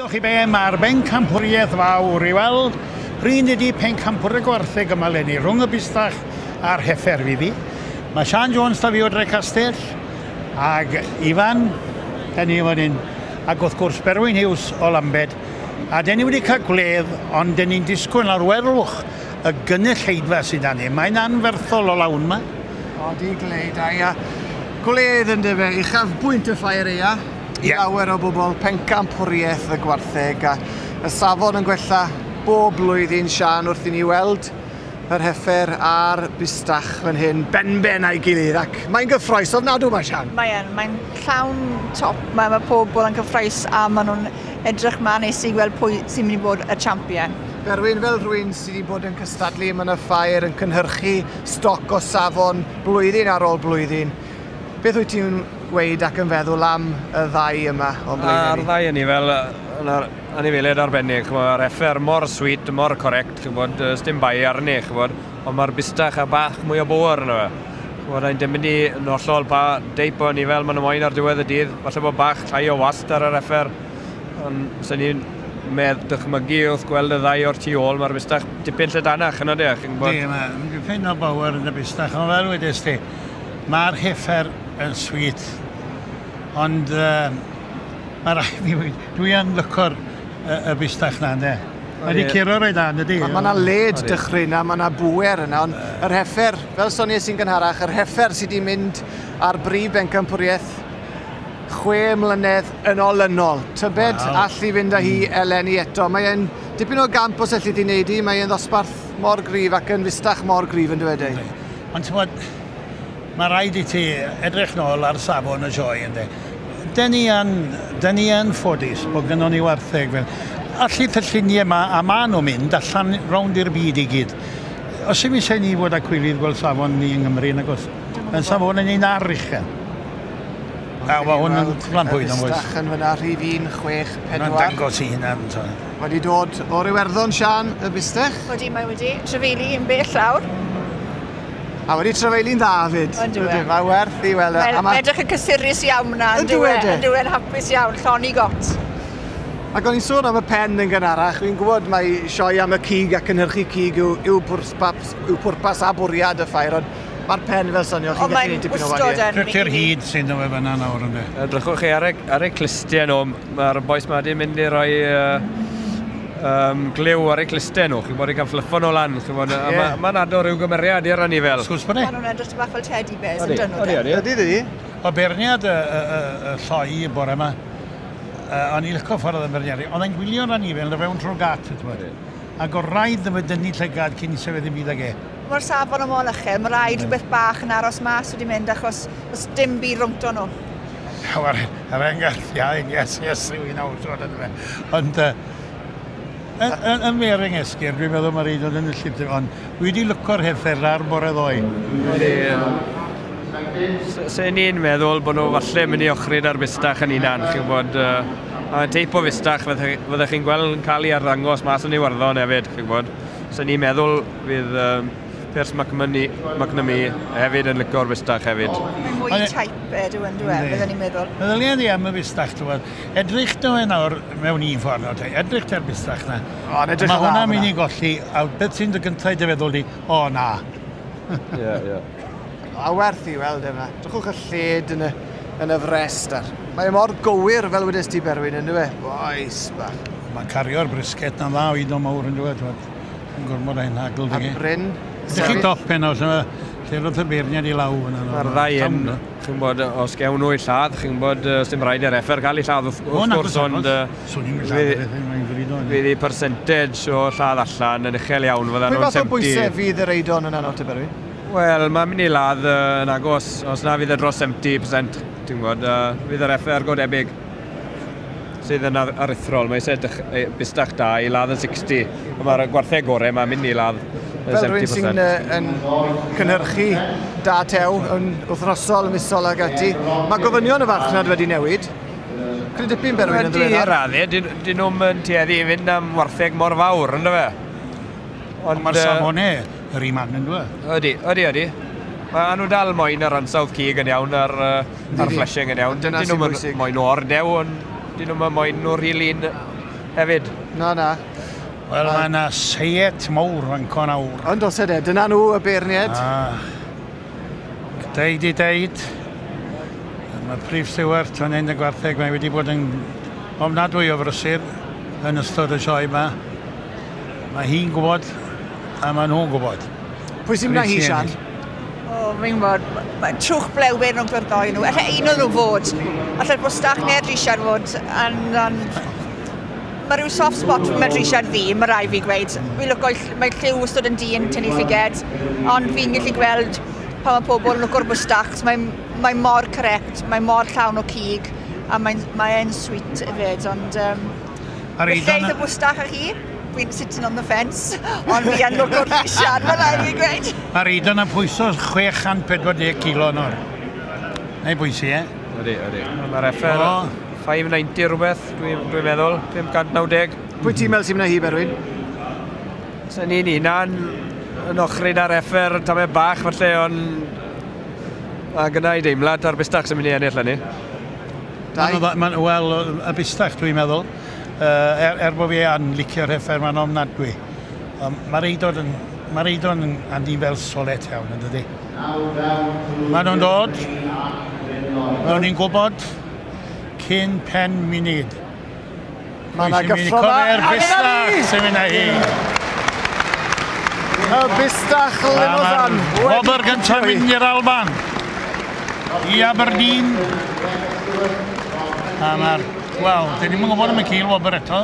Wyddoch chi be, mae'r bencampwriaeth fawr i weld. Prin ydi pencampwr y gwartheg yma 'leni, rhwng y bustach a'r heffer fydd hi. Mae Siân Jones 'da fi o Drecastell, ag Ifan, da ni fan hyn, ac wrth gwrs Berwyn Hughes o Lambed. A den ni wedi cael gwledd, ond den ni'n disgwyl nawr, welwch y gynulleidfa sydd 'da ni. Mae'n anferthol o lawn 'ma. Odi, glei da, ia. Gwledd yndyfe, uchafbwynt y ffair aea. I lawer o bobl, pencampwriaeth y gwartheg a y safon yn gwella bob blwyddyn, Siân, wrth i ni weld yr heffer a'r bustach fan hyn benben a'i gilydd ac mae'n gyffroes ofnadw ma, Siân. Mae yn, mae'n llawn top, mae, mae pobl yn cyffroes a maen nhw'n edrych mlaen nes i gweld pwy sy'n mynd i bod y champion. Berwyn, fel rhywun sydd wedi bod yn cystadlu yma yn y ffair, yn cynhyrchu stoc o safon blwyddyn ar ôl blwyddyn, beth wyt ti'n gweud ac yn feddwl am y ddau yma o'n blaenau ni? A'r ddau yn ni fel anifeiliaid arbennig, mae'r heffer mor sweet, mor correct, chi'n gwybod, dim bai arni, chi'n gwybod, ond mae'r bustach a bach mwy o bŵer yno fe. Chi'n gwybod, dim mynd i yn hollol pa deip o anifel maen nhw moyn ar diwedd y dydd, falle bod bach llai o wast ar yr heffer, ond sy'n ni'n medd dychmygu wrth gweld y ddau o'r tu ôl, mae'r bustach dipyn lledanach yno de, chi'n gwybod. Di, mae'n dipyn o bŵer yn y bustach, ond fel wedes ti, mae'r heffer yn sweet, ond mae rhaid fi weud, dwi yn lyco'r y bustach na, ynde. Mae wedi curo reit dda, yndydi? Mae yna led dychryn a mae yna bŵer yna, ond yr heffer, fel soniais i'n gynharach, yr heffer sydd wedi mynd ar brif bencampwriaeth 6 mlynedd yn olynol. Tybed all i fynd â hi eleni eto. Mae e'n dipyn o gamp os elli di wneud i, mae e'n ddosbarth mor gryf ac yn fustach mor gryf yn dweud ei. Ond ti'n bod, mae rhaid i ti edrych nôl ar safon y sioe, ynddi. Den ni yn, den ni yn ffodus bod gynnon ni wartheg fel. Allith y lluniau yma, a maen nhw'n mynd allan rownd i'r byd i gyd. Os yw'n eisiau ni fod â cwilydd gweld safon ni yng Nghymru, nag oes? Yn safon yn un ar uchel. A mae hwn yn lan pwyd yn oes. Bustach yn fyna, rhif 1, 6, 4. Mae'n dangos i hunan. So. Wedi dod o'r Iwerddon, Siân, y bustach? Wedi, mae wedi. Trefeili yn bell lawr. A wedi trefeili'n dda fyd. Yn dyw e. Mae werth i weld. Mae'n edrych yn cysurus iawn na. Yn dyw e. Yn dyw e'n hapus iawn, llon i got. Ac o'n i'n sôn am y pen yn gynharach, fi'n gwybod mai sioe am y cig a cynhyrchu cig yw pwrpas a bwriad y ffair, ond mae'r pen fel sonio, chi'n gallu gwneud dipyn o wahaniaeth. Drychti'r hyd sy'n dod fyna nawr ynddo. Drychwch chi ar eu clustiau nhw, mae'r bois ma wedi mynd i roi glyw ar eu clustiau nhw, chi'n bod i cael fluffo nhw lan, chi'n bod, yeah. Mae'n ado rhyw gymeriad i'r anifel. Sgwrs bod e? Maen nhw'n edrych bach fel teddy bears yn dyn nhw. Ydy, ydy. O beirniad y lloi y bore yma, o'n i'n lyco ffordd oedd yn beirniadu, oedd e'n gwylio'r anifel yn fewn trwy'r gat, ac o rhaid iddo fe dynnu llygad cyn i sefyll ddim byd ag e. Mae'r safon o mor uchel, mae rhaid rhywbeth bach yn aros mas wedi mynd achos does dim byd rhwngto nhw. Yr enghraifft, ia, yes, yes, rhywun awr, ti'n fe. Ond yn fer esgyrn, dwi'n meddwl mae'r un o'n enillydd, ond dwi wedi lyco'r heffer ar bore ddoe. Se ni'n meddwl bod nhw falle mynd i ochri ar fustach yn hunan, chi'n gwybod, a teip o fustach fyddech chi'n gweld yn cael ei arddangos mas yn Iwerddon hefyd, chi'n gwybod. Se ni'n meddwl fydd Piers McNamee hefyd yn lyco'r fustach hefyd. Mae'n mwy type e, dwi'n dweud, byddwn ni'n meddwl. Meddylia di am y fustach, ti'n gwybod. Edrych nhw e nawr mewn un ffordd, nawr, edrych te'r fustach na. O, mae hwnna'n mynd i golli, a beth sy'n dy gyntaf i dy feddwl di, o na. Ie, ie. A werth i weld yma. Drychwch y lled yn y frest ar. Mae mor gywir fel wedes ti Berwyn, yn dyw e? Boes bach. Mae'n cario'r brisket na'n dda o un o mawr yn dyw e, yn gormod ein hagl. A Bryn. Ydych chi dop heno, lle roedd y beirniad i law yna. Mae'r ddau yn, chi'n bod, os gewn nhw i lladd, chi'n bod, dim rhaid i'r effer cael ei lladd wrth gwrs, ond fydd ei percentage o lladd allan yn uchel iawn, fyddan nhw'n 70. Pwy fath o bwysau fydd yr eidon yna nawr te, Berwyn? Wel, mae'n mynd i ladd yn agos, os na fydd e dros 70%, ti'n gwybod, fydd yr effer go debyg sydd yn aruthrol. Mae eisiau bustach da i ladd yn 60, ond mae'r gwartheg gorau mae'n mynd i ladd yn 70%. Fel rhywun sy'n yn cynhyrchu da tew yn wythnosol, yn misol ag ati, mae gofynion y farchnad wedi newid. Cryn dipyn Berwyn yn ddiweddar. Wedi raddau, dyn nhw'n yn tueddu i fynd am wartheg mor fawr, ynddo fe? Ond mae'r safonau yr un man yn dweud. Ydy, ydy, ydy. Mae nhw dal moyn yr ansawdd cig yn iawn a'r fleshing yn iawn. Dyna sy'n bwysig. Moyn o'r dew, ond dyn nhw'n moyn nhw'r rhy lun hefyd. Na, na. Wel, mae yna seiet mawr fan co nawr. Ond os ydy, dyna nhw y beirniaid. Deud i deud, mae Prif Stewart fan hyn y gwartheg, mae wedi bod yn ofnadwy o frysur yn ystod y sioe yma. Mae hi'n gwybod a mae nhw'n gwybod. Pwy sy'n mynd â hi, Sian? O, fi'n gwybod, mae trwch blewyn rhwng yr ddoi nhw. Alla un o'n nhw fod. Alla'r Bwstach neu'r Risiad fod. And mae rhyw soft spot mae Risiad ddi, mae rai fi gweud. Fi'n lwco, mae lliw wastad yn du yn tynnu llyged, ond fi'n gallu gweld pan mae pobl yn lwco'r Bwstach, mae, mae mor correct, mae mor llawn o cig, a mae'n mae sweet hefyd, ond Ar Felly Eidon, y Bwstach a chi, fi'n sitting on the fence, ond fi yn lwco'r Risiad, mae rai fi gweud. Ar Eidon yn pwyso 640 kilo nawr. Neu bwysi, e? Ydy, ydy. Mae'r heffer O. 590 rhywbeth, dwi'n dwi meddwl, 590. Pwy ti'n meddwl sy'n mynd â hi, Berwyn? Sa'n ni'n hunan yn ochri ar heffer tamed bach falle, ond a gyda i deimlad a'r bustach sy'n mynd i ennill hynny. Dau? Wel, y bustach dwi'n meddwl. Er bod fi yn licio'r heffer, mae'n ofnadwy. Mae'r eidod yn, mae'r eidod yn anifel solet iawn, yn dydi? Maen nhw'n dod, maen nhw'n gwybod cyn pen munud. Mae yna Pwy sy'n mynd i gyffro 'ma. cofio'r A dyna bustach ni! sy'n mynd â hi. Y Bustach Limousin. Wobr gyntaf mynd i'r Alban. I Aberdeen. A mae'r... Wel, dyn ni'n gwybod am y cil wobr eto.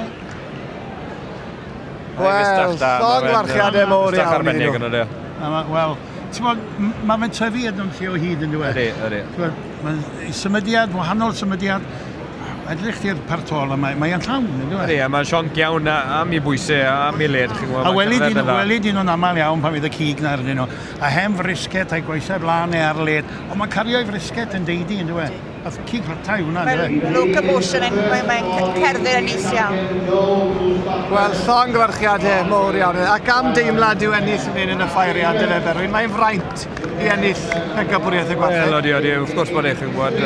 Wel, llongyfarchiadau mowr Bustach iawn iddyn arbennig nhw. yn ydy. A ma, wel, ti'n bod, mae fe'n tyfu yn lle o hyd yn dweud. Ydy, ydy. Mae'n symudiad, wahanol symudiad. Edrych ti'r partol yma, mae'n llawn, yn dweud. Ydy, a mae'n sionc iawn am ei bwysau, am ei led, chi'n gwybod. A mae'n welid cerdded un, yn dda. welid un o'n aml iawn pan fydd y cig na arnyn nhw. A hen frisget a'i goesau blaen neu ar led. Ond mae'n cario'i frisget yn deidi, yn dweud. A cig rhatau hwnna, yn Mae'r dweud. locomotion yn, mae'n cerdded yn neis iawn. Wel, llongyfarchiadau mowr iawn. Ac am deimlad yw ennill yn hyn yn y ffairiad, dyfe Berwyn. Mae'n fraint i ennill pencampwriaeth y Wel, gwartheg. odi, odi, wrth gwrs bod e, chi'n gwybod,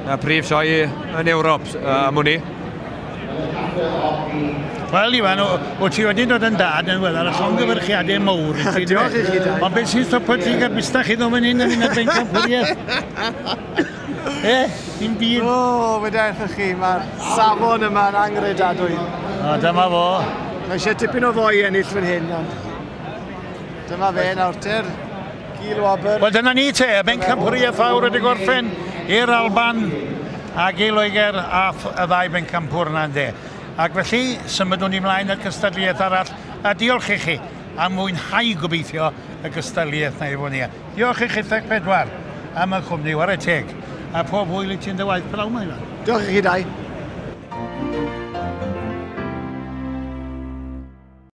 y prif sioe yn Ewrop, am hwnni. Wel, Iwan, o ti wedi dod yn dad yn wel ar y llongyfarchiadau mowr. I ti, Diolch i chi, dau. Ond beth sy'n stopo ti gael bustach i ddod fan hyn yn un o'r bencampwriaeth? E, dim byd. O, wedi eich chi, mae'r safon yma'n angredadwy. O, dyma fo. Mae eisiau tipyn o foi ennill fan hyn, ond dyma fe nawr, ter. Gil wobr. Wel, dyna ni te, y bencampwriaeth fawr wedi gorffen i'r Alban ac i Loegr a y ddau bencampwr yna ynde. Ac felly, symudwn ni mlaen at gystadleuaeth arall, a diolch i chi am mwynhau gobeithio y gystadleuaeth na efo ni. Diolch i chi theg pedwar am y cwmni, ware teg. A pob hwyl i ti'n dy waith pnawn yma, Iwan. Diolch i chi dau.